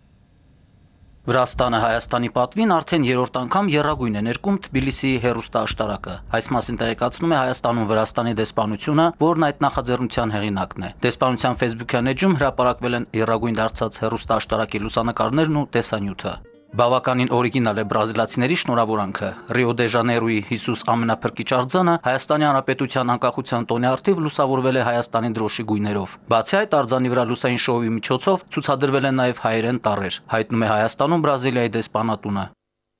Վրաստանը Հայաստանի պատվին արդեն երրորդ անգամ եռագույն է ներկում Թբիլիսիի հեռուստաաշտարակը։ Այս մասին տեղեկացնում է Հայաստանում Վրաստանի դեսպանությունը, որն այդ նախաձեռնության հեղինակն է։ Դեսպանության Facebook-յան էջում հրապարակվել են եռագույն դարձած հեռուստաաշտարակի լուսանկարներն ու տեսանյութը։ Բավականին օրիգինալ է բրազիլացիների շնորհավորանքը։ Ռիո դե Ժանեյրոյի Հիսուս ամենափրկիչ արձանը Հայաստանի Հանրապետության անկախության տոնի առթիվ լուսավորվել է Հայաստանի դրոշի գույներով։ Բացի այդ, արձանի վրա լուսային շոուի միջոցով ցուցադրվել են նաև հայերեն տառեր, հայտնում է Հայաստանում Բրազիլիայի դեսպանատունը։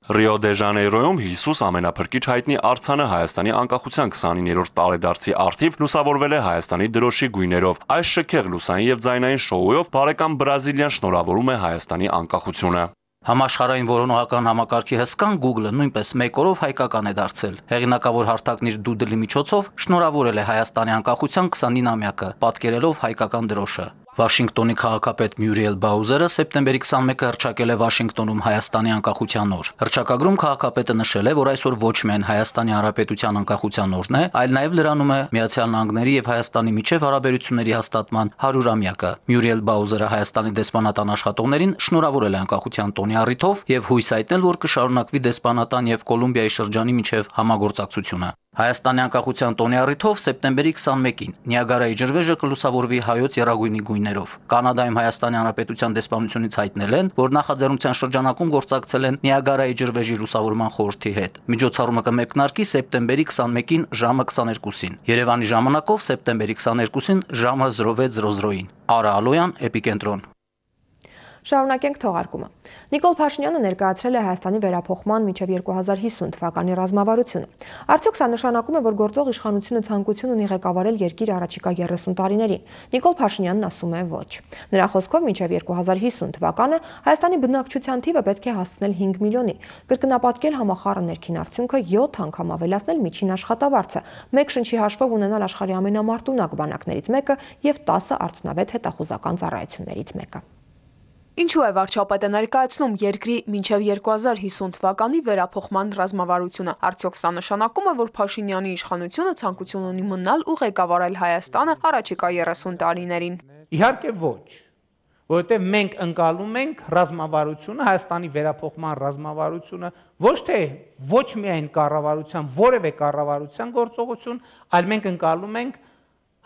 Ռիո դե Ժանեյրոյում Հիսուս ամենափրկիչ հայտնի արձանը Հայաստանի անկախության քսանիններորդ տարեդարձի առթիվ լուսավորվել է Հայաստանի դրոշի գույներով։ Այս շքեղ լուսային եւ ձայնային շոուով բարեկամ Բրազիլիան շնորհավորում է Հայաստանի անկախությունը։ Համաշխարհային որոնողական համակարգի հսկան Google-ը նույնպես մեկ օրով հայկական է դարձել։ Հեղինակավոր հարթակն իր դուդլի միջոցով շնորհավորել է Հայաստանի անկախության քսանինամյակը, պատկերելով հայկական դրոշը։ Վաշինգտոնի քաղաքապետ Մյուրիել Բաուզերը սեպտեմբերի քսանմեկը հռչակել է Վաշինգտոնում Հայաստանի անկախության օր։ Հռչակագրում քաղաքապետը նշել է, որ այսօր ոչ միայն Հայաստանի Հանրապետության անկախության օրն է, այլ նաև լրանում է Միացյալ Նահանգների եւ Հայաստանի միջև հարաբերությունների հաստատման հարյուրամյակը։ Մյուրիել Բաուզերը Հայաստանի դեսպանատան աշխատողներին շնորհավորել է անկախության տոնի առիթով եւ հույս հայտնել, որ կշարունակվի դեսպանատան եւ Կոլումբիայի շրջանի միջև համագործակցությունը։ Հայաստանի անկախության տոնի առիթով սեպտեմբերի քսանմեկին Նիագարայի ջրվեժը կլուսավորվի հայոց եռագույնի գույներով։ Կանադայում Հայաստանի Հանրապետության դեսպանությունից հայտնել են, որ նախաձեռնության շրջանակում գործակցել են Նիագարայի ջրվեժի լուսավորման խորհրդի հետ։ Միջոցառումը կմեկնարկի սեպտեմբերի քսանմեկին ժամը քսաներկուսին։ Երևանի ժամանակով սեպտեմբերի քսաներկուսին ժամը զրո վեց զրո զրոյին։ Արա Ալոյան, Էպիկենտրոն։ Շարունակենք թողարկումը։ Նիկոլ Փաշինյանը ներկայացրել է Հայաստանի վերափոխման մինչև երկու հազար հիսուն թվականի ռազմավարությունը։ Արդյոք սա նշանակում է, որ գործող իշխանությունը ցանկություն ունի ղեկավարել երկիր առաջիկա երեսուն տարիներին։ Նիկոլ Փաշինյանն ասում է ոչ։ Նրա խոսքով մինչև երկու հազար հիսուն թվականը Հայաստանի բնակչության թիվը պետք է հասցնել հինգ միլիոնի, կրկնապատկել համախառն ներքին արդյունքը, յոթ անգամ ավելացնել միջին աշխատավարձը, մեկ շնչի հաշվով ունենալ աշխարհի ամենամարտունակ բանակներից մեկը եւ տասը արդյունավետ հետախուզական ծառայություններից մեկը։ Ինչու է վարչապետը ներկայացնում երկրի մինչև երկու հազար հիսուն թվականի վերափոխման ռազմավարությունը։ Արդյոք սա նշանակում է, որ Փաշինյանի իշխանությունը ցանկություն ունի մնալ ու ղեկավարել Հայաստանը առաջիկա երեսուն տարիներին։ Իհարկե ոչ, որովհետև մենք ընկալում ենք ռազմավարությունը, Հայաստանի վերափոխման ռազմավարությունը ոչ թե ոչ միայն կառավարության, որևէ կառավարության գործողություն, այլ մենք ընկալում ենք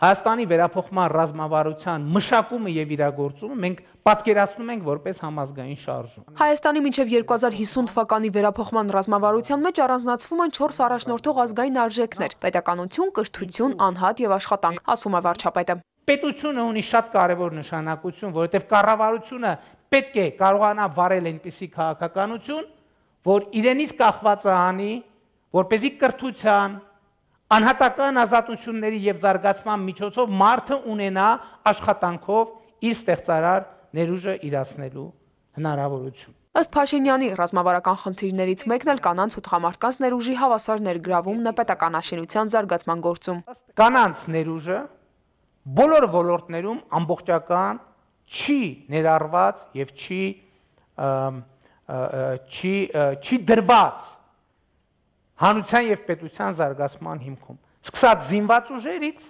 Հայաստանի վերափոխման ռազմավարության մշակումը եւ իրագործումը մենք պատկերացնում ենք որպես համազգային շարժում։ Հայաստանի մինչև երկու հազար հիսուն թվականի վերափոխման ռազմավարության մեջ առանձնացվում են չորս առաջնորդող ազգային արժեքներ՝ պետականություն, կրթություն, անհատ եւ աշխատանք, ասում է վարչապետը։ Պետությունը ունի շատ կարևոր նշանակություն, որովհետեւ կառավարությունը պետք է կարողանա վարել այնպիսի քաղաքականություն, որ իրենից կախվածը անի, որպեսզի կրթության անհատական ազատությունների եւ զարգացման միջոցով մարդը ունենա աշխատանքով իր ստեղծարար ներուժը իրացնելու հնարավորություն։ Ըստ Փաշինյանի ռազմավարական խնդիրներից մեկն էլ կանանց ու տղամարդկանց ներուժի հավասար ներգրավումն է պետականաշինության զարգացման գործում։ Կանանց ներուժը բոլոր ոլորտներում ամբողջական չի ներառված եւ չի չի չի դրված հանրության եւ պետության զարգացման հիմքում։ Սկսած զինված ուժերից,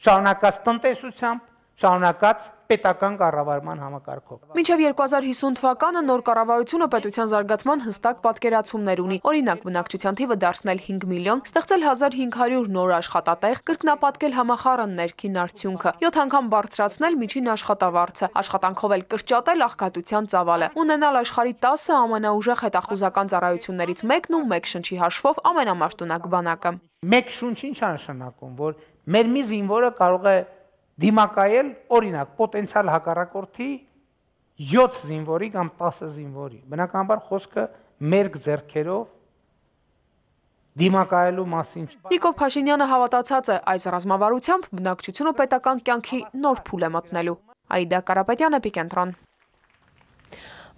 շարունակած տնտեսությամբ, շարունակած պետական կառավարման համակարգով։ Մինչև երկու հազար հիսուն թվականը նոր կառավարությունը պետության զարգացման հստակ պատկերացումներ ունի։ Օրինակ, բնակչության թիվը դարձնել հինգ միլիոն, ստեղծել հազար հինգ հարյուր նոր աշխատատեղ, կրկնապատկել համախառն ներքին արդյունքը, յոթ անգամ բարձրացնել միջին աշխատավարձը, աշխատանքով էլ կրճատել աղքատության ծավալը, ունենալ աշխարհի տասը ամենաուժեղ հետախուզական ծառայություններից մեկն ու մեկ շնչի հաշվով ամենամարտունակ բանակը։ Մեկ շունչ ինչ է նշանակում, որ մեր մի զինվորը կարող է դիմակայել, օրինակ, պոտենցիալ հակառակորդի յոթ զինվորի կամ տասը զինվորի։ Բնականաբար խոսքը մերկ ձեռքերով դիմակայելու մասին։ Նիկոլ Փաշինյանը հավատացած է այս ռազմավարությամբ բնակչությունը պետական կյանքի նոր փուլ է մտնելու։ Այդա Կարապետյան, Էպիկենտրոն։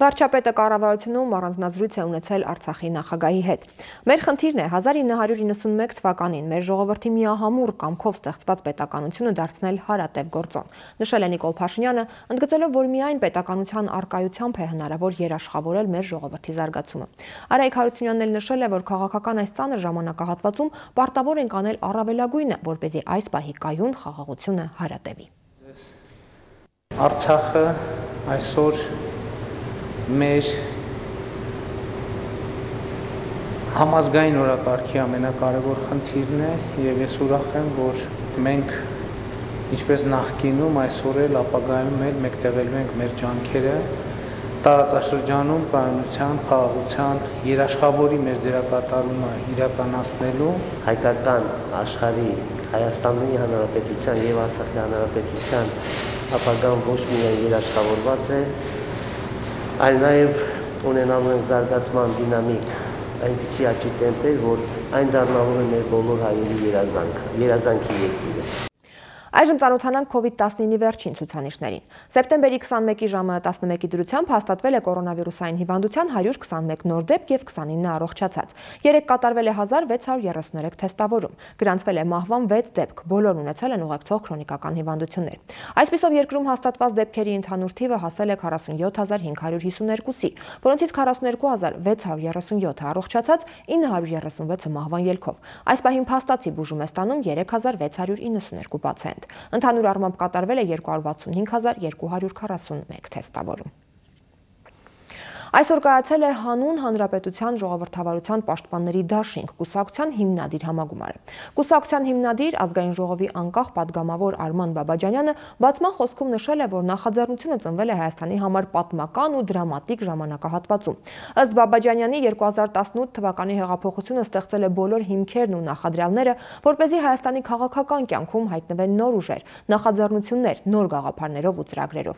Վարչապետը կառավարությունում առանձնազրույց է ունեցել Արցախի նախագահի հետ։ Մեր խնդիրն է հազար ինը հարյուր իննսունմեկ թվականին մեր ժողովրդի միահամուռ կամքով ստեղծված պետականությունը դարձնել հարատև գործոն, նշել է Նիկոլ Փաշինյանը, ընդգծելով, որ միայն պետականության առկայությամբ է հնարավոր երաշխավորել մեր ժողովրդի զարգացումը։ Արայիկ Հարությունյանն էլ նշել է, որ քաղաքական այս ծանր ժամանակահատվածում պարտավոր ենք անել առավելագույնը, որպեսզի այս պահի կայուն խաղաղությունը հարատևի։ Արցախը այսօր մեր համազգային օրակարգի ամենակարևոր խնդիրն է եւ ես ուրախ եմ, որ մենք ինչպես նախկինում այսօր էլ ապագայում էլ մեկտեղելու ենք մեր ջանքերը տարածաշրջանում կայունության, խաղաղության, երաշխավորի մեր դերակատարումը իրականացնելու հայկական աշխարհի Հայաստանի Հանրապետության եւ Արցախի Հանրապետության ապագան ոչ միայն երաշխավորված է, այլ նաև ունենալու են զարգացման դինամիկ այնպիսի աճի տեմպեր, որ այն դառնալու է մեր բոլոր հայերի երազանքը, երազանքի երկիրը։ Այժմ ծանոթանանք կովիդ տասնինի վերջին ցուցանիշներին։ Սեպտեմբերի քսանմեկի ժամը տասնմեկի դրությամբ հաստատվել է կորոնավիրուսային հիվանդության հարյուր քսանմեկ նոր դեպք եւ քսանինը առողջացած։ Երեկ կատարվել է հազար վեց հարյուր երեսուններեք թեստավորում։ Գրանցվել է մահվան վեց դեպք, բոլորն ունեցել են ուղեկցող քրոնիկական հիվանդություններ։ Այսպիսով երկրում հաստատված դեպքերի ընդհանուր թիվը հասել է քառասունյոթ հազար հինգ հարյուր հիսուներկուսի, որոնցից քառասուներկու հազար վեց հարյուր երեսունյոթը առողջացած, ինը հարյուր երեսունվեցը մահվան ելքով։ Այս պահին փաստացի բուժում է ստանում երեք հազար վեց հարյուր իննսուներկու պացիենտ։ Ընդհանուր առմամբ կատարվել է երկու հարյուր վաթսունհինգ հազար երկու հարյուր քառասունմեկ թեստավորում։ Այսօր կայացել է հանուն հանրապետության ժողովրդավարության պաշտպանների դաշինք կուսակցության հիմնադիր համագումարը։ Կուսակցության հիմնադիր ազգային ժողովի անկախ падգամավոր Արման Բաբաջանյանը բացման խոսքում նշել է, որ նախաձեռնությունը ծնվել է Հայաստանի համար պատմական ու դրամատիկ ժամանակահատվածում։ Ըստ Բաբաջանյանի երկու հազար տասնութ թվականի հեղափոխությունը ստեղծել է բոլոր հիմքերն ու նախադրյալները, որպեսզի Հայաստանի քաղաքական կյանքում հայտնվեն նոր ուժեր, նախաձեռնություններ, նոր գաղափարներով ու ծրագրերով։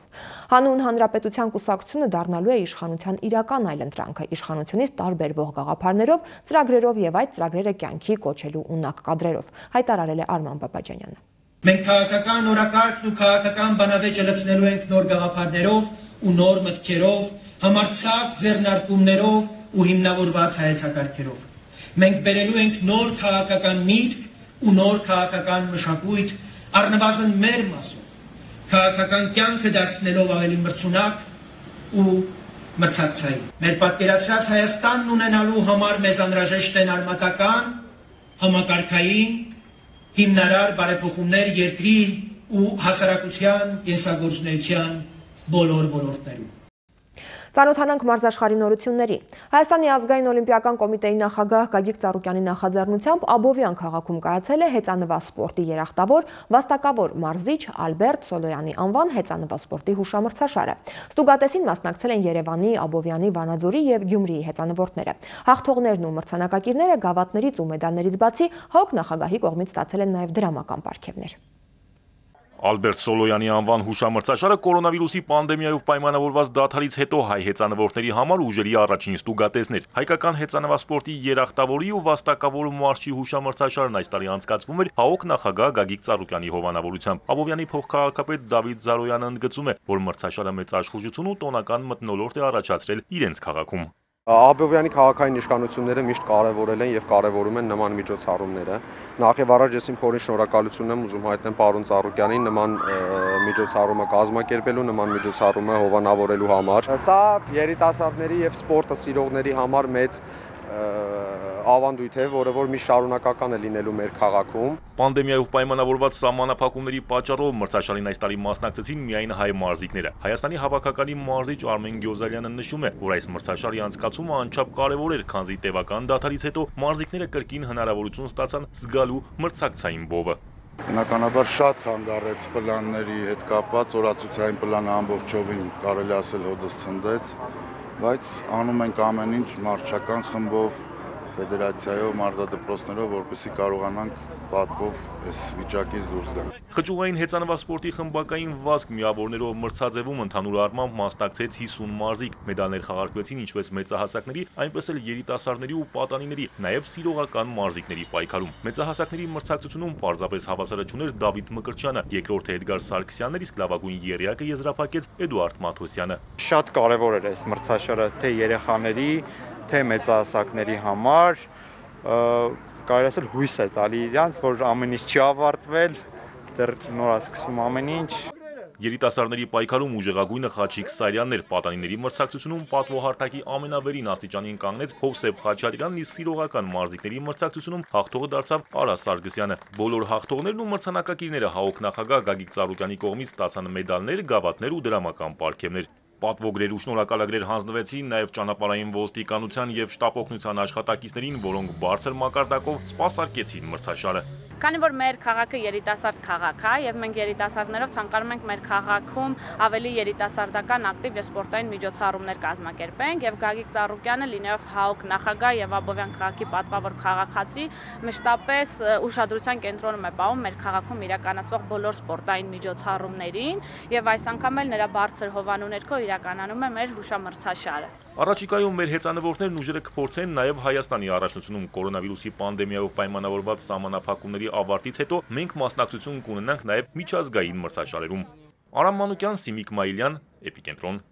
Հանուն հանրապետության կուսակցությունը դառնալու է իշխանության իրական այլընտրանքը իշխանությունից տարբերվող գաղափարներով, ծրագրերով եւ այդ ծրագրերը կյանքի կոչելու ունակ կադրերով, հայտարարել է Արման Բաբաջանյանը։ Մենք քաղաքական օրակարգն ու քաղաքական բանավեճը լցնելու ենք նոր գաղափարներով ու նոր մտքերով, համարձակ ձեռնարկումներով ու հիմնավորված հայեցակարգերով։ Մենք բերելու ենք նոր քաղաքական միտք ու նոր քաղաքական մշակույթ, առնվազն մեր մասով, քաղաքական կյանքը դարձնելով ավելի մրցունակ ու մրցակցային։ Մեր պատկերացրած Հայաստանն ունենալու համար մեզ անհրաժեշտ են արմատական, համակարգային, հիմնարար բարեփոխումներ երկրի ու հասարակության կենսագործունեության բոլոր ոլորտներում։ Ծանոթանանք մարզաշխարհի նորությունների։ Հայաստանի ազգային օլիմպիական կոմիտեի նախագահ Գագիկ Ծառուկյանի նախաձեռնությամբ Աբովյան քաղաքում կայացել է հեծանվա սպորտի երախտավոր վաստակավոր մարզիչ Ալբերտ Սոլոյանի անվան հեծանվա սպորտի հուշամրցաշարը։ Ստուգատեսին մասնակցել են Երևանի, Աբովյանի, Վանաձորի եւ Գյումրիի հեծանվորդները։ Հաղթողներն ու մրցանակակիրները գավաթներից ու մեդալներից բացի ՀԱՕԿ նախագահի կողմից ստացել են նաեւ դրամական պարգևներ։ Ալբերտ Սոլոյանի անվան հուշամրցաշարը կորոնավիրուսի պանդեմիայով պայմանավորված դադարից հետո հայ հեծանվորդների համար ուժերի առաջին ստուգատեսն էր։ Հայկական հեծանվասպորտի երախտավորի ու վաստակավոր մարզչի հուշամրցաշարն այս տարի անցկացվում էր ՀԱՕԿ նախագահ Գագիկ Ծառուկյանի հովանավորությամբ։ Աբովյանի փոխքաղաքապետ Դավիթ Զարոյանը ընդգծում է, որ մրցաշարը մեծ աշխուժություն ու տոնական մթնոլորտ է առաջացրել իրենց քաղաքում։ Աբովյանի քաղաքային իշխանությունները միշտ կարևորել են եւ կարևորում են նման միջոցառումները։ Նախ եւ առաջ ես իմ խորին շնորհակալությունն եմ ուզում հայտնել պարոն Ծառուկյանին նման միջոցառումը կազմակերպելու, նման միջոցառումը հովանավորելու համար։ Սա երիտասարդների եւ սպորտը սիրողների համար մեծ ավանդույթ է, որը որ մի շարունակական է լինելու մեր քաղաքում։ Պանդեմիայով պայմանավորված սահմանափակումների պատճառով մրցաշարին այս տարի մասնակցեցին միայն հայ մարզիկները։ Հայաստանի հավաքականի մարզիչ Արմեն Գյոզալյանը նշում է, որ այս մրցաշարի անցկացումը անչափ կարևոր էր, քանզի տևական դադարից հետո մարզիկները կրկին հնարավորություն ստացան զգալու մրցակցային բովը։ Բնականաբար շատ խանգարեց պլանների հետ կապված, օրացուցային պլանը ամբողջովին կարելի ասել հոդս ցնդեց, բայց անում ենք ամեն ինչ մարզչական խմբով, ֆեդերացիայով, մարզադպրոցներով, որպեսզի կարողանանք պատվով այս վիճակից դուրս գանք։ Խճուղային հեծանվասպորտի խմբակային վազք միավորներով մրցաձևում ընդհանուր առմամբ մասնակցեց հիսուն մարզիկ։ Մեդալներ խաղարկվեցին ինչպես մեծահասակների, այնպես էլ երիտասարդների ու պատանիների, նաև սիրողական մարզիկների պայքարում։ Մեծահասակների մրցակցությունում պարզապես հավասարը չուներ Դավիթ Մկրտչյանը, երկրորդը Էդգար Սարգսյանն, իսկ լավագույն եռյակը եզրափակեց Էդուարդ Մաթոսյանը։ Շատ կարևոր էր այս մրցաշարը թե երեխաների, թե մեծահասակների համար, կարելի ասել հույս է տալի իրանց, որ ամեն ինչ չի ավարտվել, դեռ նոր է սկսվում ամեն ինչ։ Երիտասարդների պայքարում ուժեղագույնը Խաչիկ Սարյանն էր, պատանիների մրցակցությունում պատվոհարթակի ամենավերին աստիճանին կանգնեց Հովսեփ Խաչատրյանն, իսկ սիրողական մարզիկների մրցակցությունում հաղթողը դարձավ Արա Սարգսյանը։ Բոլոր հաղթողներն ու մրցանակակիրները ՀԱՕԿ նախագահ Գագիկ Ծառուկյանի կողմից ստացան մեդալներ, գավաթներ ու դրամական պարգևներ։ Պատվոգրեր ու շնորհակալագրեր հանձնվեցին նաև ճանապարհային ոստիկանության եւ շտապ օգնության աշխատակիցներին, որոնք բարձր մակարդակով սպասարկեցին մրցաշարը։ Քանի որ մեր քաղաքը երիտասարդ քաղաք է եւ մենք երիտասարդներով ցանկանում ենք մեր քաղաքում ավելի երիտասարդական ակտիվ եւ սպորտային միջոցառումներ կազմակերպենք եւ Գագիկ Ծառուկյանը լինելով ՀԱՕԿ նախագահ եւ Աբովյան քաղաքի պատվավոր քաղաքացի մշտապես ուշադրության կենտրոնում է պահում մեր քաղաքում իրականացվող բոլոր սպորտային միջոցառումներին եւ այս անգամ էլ նրա բարձր հովանու ներքո իրականանում է մեր հուշամրցաշարը։ Առաջիկայում մեր հեծանվորդներն ուժերը կփորձեն նաև Հայաստանի առաջնությունում կորոնավիրուսի պանդեմիայով պայմանավորված սահմանափակումների ավարտից հետո մենք մասնակցություն կունենանք նաև միջազգային մրցաշարերում։ Արամ Մանուկյան, Սիմիկ Մայիլյան, Էպիկենտրոն։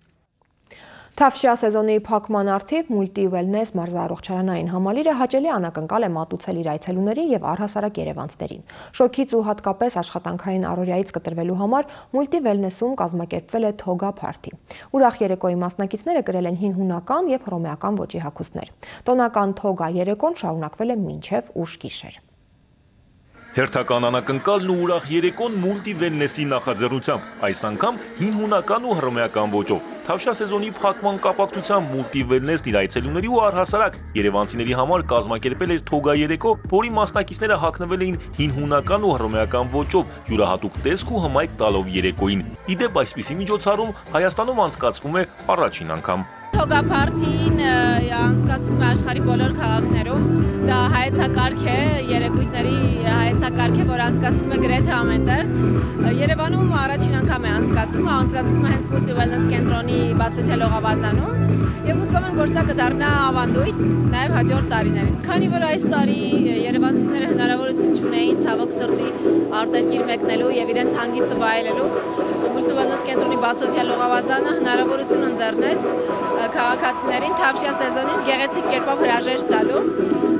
Թավշյա սեզոնի փակման առթիվ Multi Wellness մարզառողջարանային համալիրը հաճելի անակնկալ է մատուցել իր այցելուներին եւ առհասարակ երևանցիներին։ Շոքից ու հատկապես աշխատանքային առօրյայից կտրվելու համար Multi Wellness-ում կազմակերպվել է թոգա փարթի։ Ուրախ երեկոյի մասնակիցները կրել են հին հունական եւ հռոմեական ոճի հագուստներ։ Տոնական թոգա երեկոն շարունակվել է մինչեւ ուշ գիշեր։ Հերթական անակնկալն ու ուրախ երեկոն Multi Wellness-ի նախաձեռնությամբ, այս անգամ հին հունական ու հռոմեական ոճով։ Թավշյա սեզոնի փակման կապակցությամբ Multi Wellness-ն իր այցելուների ու առհասարակ երևանցիների համար կազմակերպել էր թոգա երեկո, որի մասնակիցները հագնվել էին հին հունական ու հռոմեական ոճով, յուրահատուկ տեսք ու հմայք տալով երեկոյին։ Ի դեպ, այսպիսի միջոցառում Հայաստանում անցկացվում է առաջին անգամ։ Թոգա փարթին անցկացվում է աշխարհի բոլոր քաղաքներում։ Դա հայեցակարգ է, երեկույթների հայեցակարգ է, որ անցկացվում է գրեթե ամենտեղ։ Երևանում առաջին անգամ է անցկացվում, անցկացվում է հենց Multi Wellness կենտրոնի բացօթյա լողավազանում եւ հուսով ենք, որ սա կդառնա ավանդույթ նաեւ հաջորդ տարիներին։ Քանի որ այս տարի երևանցիները հնարավորություն չունեին ցավոք սրտի արտերկիր մեկնելու եւ իրենց հանգիստը վայելելու, Multi Wellness կենտրոնի բացօթյա լողավազանը հնարավորություն ընձեռնեց քաղաքացիներին Թավշյա սեզոնին գեղեցիկ կերպով հրաժեշտ տալու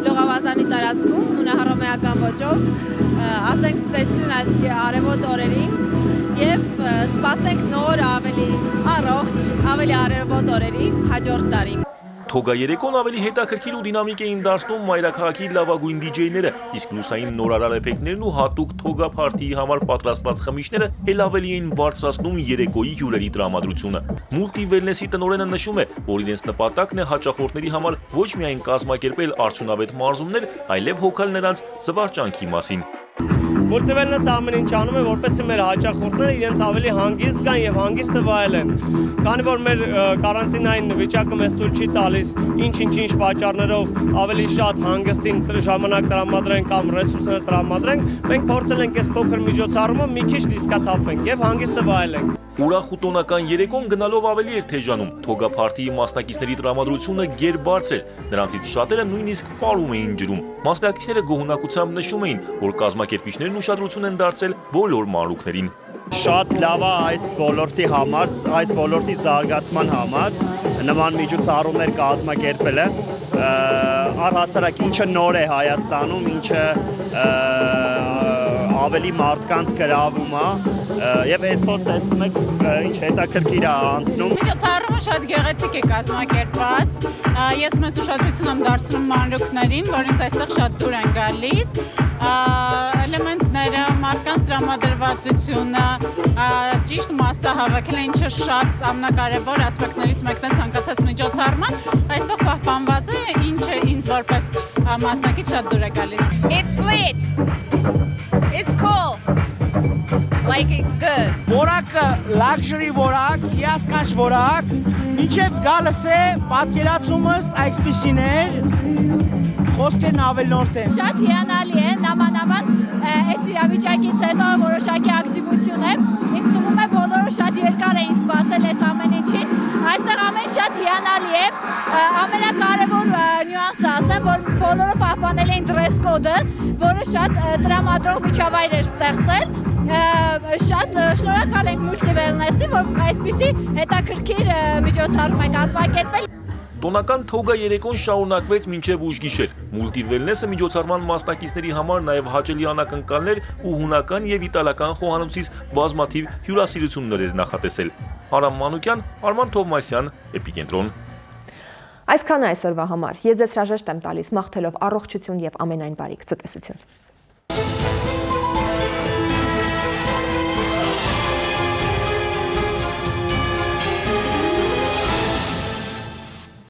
լողավազանի տարածքում հունահռոմեական ոճով, ասենք ծեսություն այս արևոտ օրերին եւ սպասենք նոր ավելի առողջ, ավելի արևոտ օրերի հաջորդ տարի։ Թոգա երեկոն ավելի հետաքրքիր ու դինամիկ էին դարձնում մայրաքաղաքի լավագույն դիջեյները, իսկ լուսային նորարար էֆեկտներն ու հատուկ թոգա փարթիի համար պատրաստված խմիչքները էլ ավելի էին բարձրացնում երեկոյի հյուրերի տրամադրությունը։ Multi Wellness-ի տնօրենը նշում է, որ իրենց նպատակն է հաճախորդների համար ոչ միայն կազմակերպել արդյունավետ մարզումներ, այլև հոգալ նրանց զվարճանքի մասին։ Multi Wellness-ը ամեն ինչ անում է, որպեսզի մեր հաճախորդները իրենց ավելի հանգիստ զգան եւ հանգիստը վայելեն։ Քանի որ մեր կարանտինային վիճակը մեզ թույլ չի տալիս ինչ-ինչ-ինչ պատճառներով ավելի շատ հանգստին ժամանակ տրամադրենք կամ ռեսուրսներ տրամադրենք, մենք փորձել ենք այս փոքր միջոցառումը մի քիչ դիսկաթափենք եւ հանգիստը վայելենք։ Ուրախ ու տոնական երեկոն գնալով ավելի էր թեժանում։ Թոգա փարթիի մասնակիցների տրամադրությունը գերբարձր էր։ Նրանցից շատերը նույնիսկ պարում էին ջրում։ Մասնակիցները գոհունակությամբ նշում էին, որ կազմակերպիչներն ուշադրություն են դարձրել բոլոր մանրուքներին։ Շատ լավ է այս ոլորտի համար, այս ոլորտի զարգացման համար նման միջոցառումներ կազմակերպելը, առհասարակ ինչը նոր է Հայաստանում, ինչը ավելի մարդկանց գրավում է եւ այսօր տեսնում եք ինչ հետաքրքիր է անցնում։ Միջոցառումը շատ գեղեցիկ է կազմակերպված։ Ես մեծ ուշադրություն եմ դարձնում մանրուքներին, որոնց այստեղ շատ դուր են գալիս։ Էլեմենտները, մարդկանց տրամադրվածությունը, ճիշտ մասսա հավաքելը, ինչը շատ ամենակարևոր ասպեկտներից մեկն է ցանկացած միջոցառման, այստեղ պահպանված է, ինչը ինձ որպես մասնակից շատ դուր է գալիս։ It's lit. It's cool. Like it good. Որակը luxury որակ, հիասքանչ որակ, միջև գալս է պատկերացումս այսպիսին էր, խոսքերն ավելորդ են։ Շատ հիանալի է, նամանավան այս իրավիճակից հետո որոշակի ակտիվություն է։ Ինձ թվում է բոլորը շատ երկար էին սպասել այս ամեն ինչին։ Այստեղ ամեն շատ հիանալի է։ Ամենակարևոր նյուանսը ասեմ, որ բոլորը պահպանել էին dress code-ը, որը շատ տրամադրող միջավայր էր ստեղծել։ Շատ շնորհակալ ենք Multi Wellness-ի, որ այսպիսի հետաքրքիր միջոցառում է կազմակերպել։ Տոնական թոգա երեկոն շարունակվեց մինչև ուշ գիշեր։ Multi Wellness-ը միջոցառման մասնակիցների համար նաև հաճելի անակնկալներ ու հունական եւ իտալական խոհանոցից բազմաթիվ հյուրասիրություններ էր նախատեսել։ Արամ Մանուկյան, Արման Թովմասյան, Էպիկենտրոն։ Այսքանը այսօրվա համար։ Ես ձեզ հրաժեշտ եմ տալիս, մաղթելով առողջություն եւ ամենայն բարիք։ Ցտեսություն։